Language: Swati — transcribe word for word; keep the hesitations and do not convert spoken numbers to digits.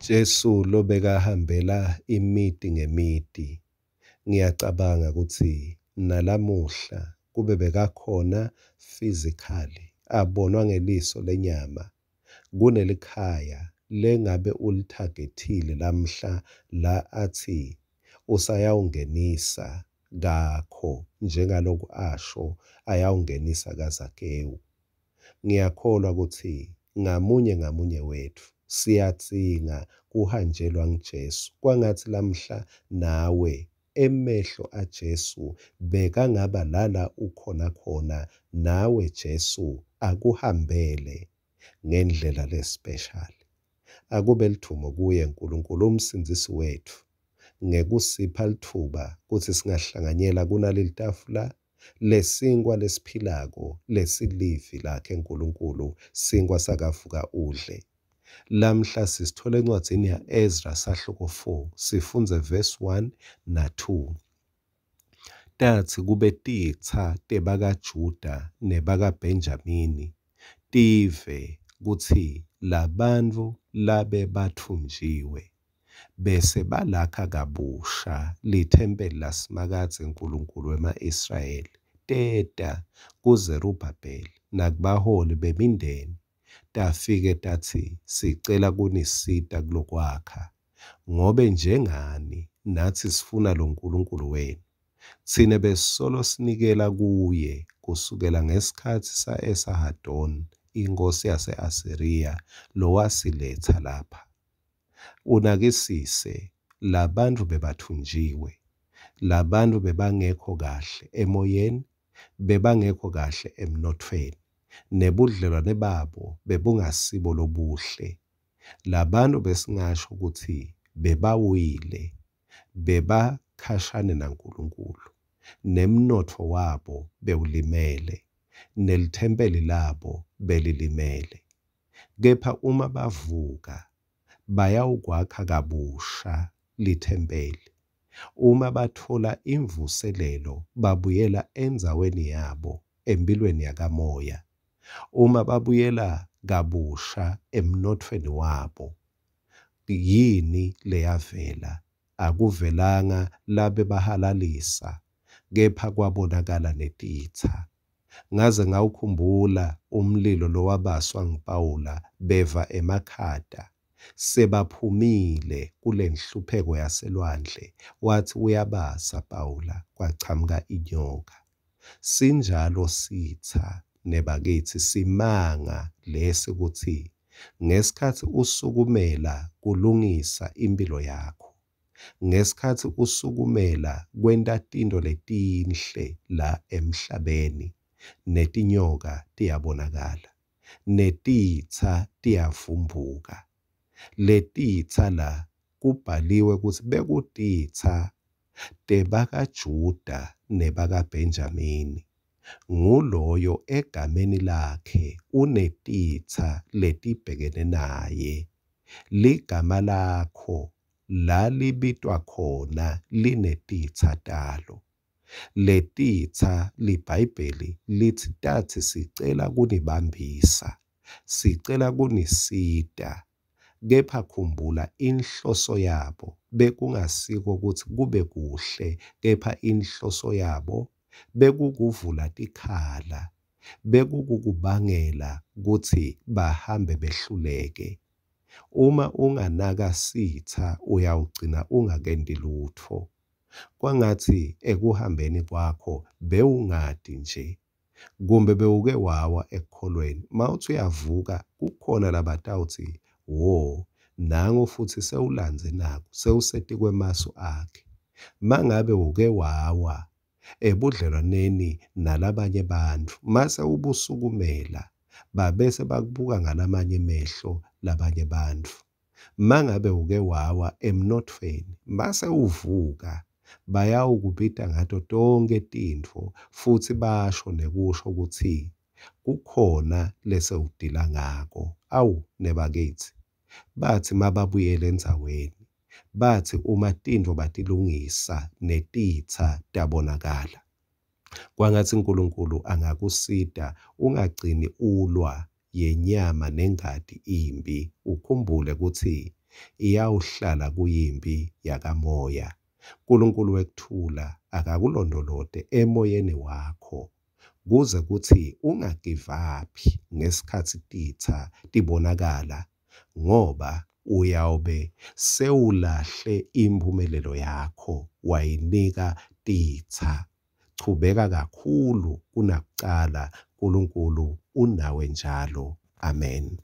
Jesu lobekahambela imiti ngemiti, ngiyacabanga kutsi nalamuhla kube bekakhona physically, abonwa ngeliso lenyama, kunelikhaya lengabe ulithagethile lamhla la atsi usayawungenisa kakho njengaloku asho ayawungenisa kaZakewu. Ngiyakholwa kutsi ngamunye ngamunye wetfu siyadzinga kuhanjelwa nguJesu. Kwangatsi lamhla nawe emehlo aJesu bekangaba lala ukhona khona, nawe Jesu akuhambele ngendlela lespecial. Akube ludvumo kuye Nkulunkulu umsindzisi wetfu ngekusipha litfuba kutsi singahlanganyela kunaleli tafula lesinkwa lesiphilako lesilivi lakhe Nkulunkulu, sinkwa sakavuka udle. Lamhla sisithola encwadzini ya-Ezra sahluko four, sifundze verse one na two. Tatsi kube titsa tebakaJuda nebakaBhenjamini tive kutsi labantfu labebatfunjiwe bese balakha kabusha lithempeli laSimakadze Nkulunkulu wema-Israyeli, teta kuZerubhabheli nakubaholi bemindeni tafike tatsi, sicela kunisita kulokwakha, ngobe njengani natsi sifuna loNkulunkulu wenu. Tsine besisolo sinikela kuye kusukela ngesikhatsi sa-Esahadoni inkhosi yase-Asiriya lowasiletsa lapha. Unakisise, labantfu bebatfunjiwe, labantfu bebangekho kahle emoyeni, bebangekho kahle emnothweni, nebudlelwane babo bebungasibo lobuhle. Labantu besingasho kutsi bebawile, bebakhashane naNkulunkulu, nemnotfo wabo bewulimele, nelithempeli labo belilimele. Kepha uma bavuka bayawukwakha kabusha lithempeli, uma batfola imvuselelo babuyela endzaweni yabo emphilweni yakamoya, uma babuyela kabusha emnothweni wabo, yini leyavela? Akuvelanga labebahalalisa, kepha kwabonakala netitsa. Ngaze ngawukhumbula umlilo lowabaswa nguPawula beva emakhata sebaphumile kulenhlupheko yaselwandle, watsi uyabasa Pawula kwachamuka inyoka. Sinjalo sitsa nebakitsi, simanga lesi kutsi ngesikhatsi usukumela kulungisa imphilo yakho, ngesikhatsi usukumela kwenta tintfo letinhle la emhlabeni, netinyoka tiyabonakala, netitsa tiyavumbuka. Letitsa la kubhaliwe kutsi bekutitsa tebakaJuda nebakaBhenjamini. Nguloyo egameni lakhe unetitsa letibhekene naye. Ligama lakho la libitwa khona linetitsa talo. Letitsa liBhayibheli litsi tatsi sicela kunibambisa, sicela kunisita, kepha khumbula inhloso yabo bekungasiko kutsi kube kuhle, kepha inhloso yabo bekukuvula tikhala, bekukukubangela kutsi bahambe behluleke. Uma unganaka sitsa uyawugcina ungakenti lutfo. Kwangatsi ekuhambeni kwakho bewungati nje, kumbe bewuke wawa ekukholweni, mawutsi uyavuka kukhona labatawutsi wo, nangu futsi sewulandze naku, sewusetikwemasu akhe. Mangabe uke wawa ebudlelwaneni nalabanye bantfu, mase ubusukumela babese bakubuka ngalamanye emehlo labanye bantfu. Mangabe uke wawa emnothweni, mase uvuka bayawukubita ngato tonkhe tintfo futsi basho nekusho kutsi kukhona lesewudila ngako. Awu nebakitsi, batsi mababuyele endzaweni, batsi uma tintfo batilungisa netitsa tabonakala. Kwangatsi Nkulunkulu angakusita ungagcini ulwa yenyama nengati imbi, ukhumbule kutsi iyawuhlala kuyimphi yakamoya. Nkulunkulu wekuthula akakulondvolote emoyeni wakho kuze kutsi ungagivaphi ngesikhatsi titsa tibonakala ngoba uyawube sewulahle imphumelelo yakho wayinika titsa. Chubeka kakhulu kunakucala, Nkulunkulu unawe njalo. Amen.